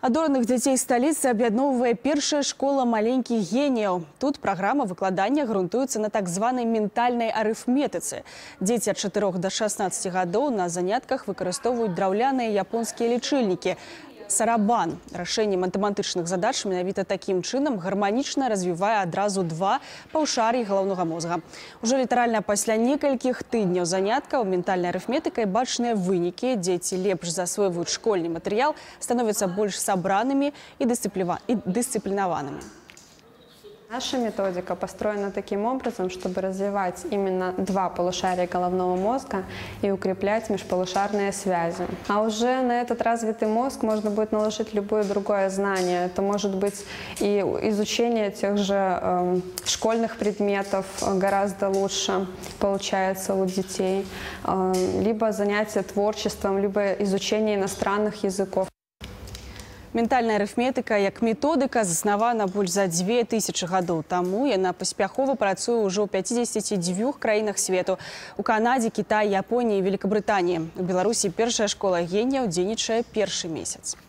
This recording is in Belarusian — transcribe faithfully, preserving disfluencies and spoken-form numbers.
Адораных дзяцей сталіцы аб'ядноўвае першая школа маленькіх геніяў. Тут праграма выкладання грунтуецца на так званай ментальнай арыфметыцы. Дзеці ад чатырох да шаснаццаці гадоў на занятках выкарыстоўваюць драўляныя японскія лічыльнікі. Сарабан. Рашэнне матэматычных задач менавіта такім чынам гарманічна развівае адразу два паўшар'і галаўнога мозга. Ужо літаральна пасля некалькіх тыдняў заняткаў ментальнай арыфметыкай бачныя вынікі. Дзеці лепш засвойваюць школьны матэрыял, становяцца больш сабранымі і дысцыплінаванымі. Наша методика построена таким образом, чтобы развивать именно два полушария головного мозга и укреплять межполушарные связи. А уже на этот развитый мозг можно будет наложить любое другое знание. Это может быть и изучение тех же э, школьных предметов гораздо лучше получается у детей, э, либо занятие творчеством, либо изучение иностранных языков. Ментальная арыфметыка як методыка заснавана больш за дзве тысячы гадоў таму. Яна паспяхова працуе ўжо ў пяцідзесяці дзвюх краінах свету. У Канадзе, Кітаі, Японіі і Великабрытаніі. У Беларусі першая школа геніяў дзейнічае першы месяц.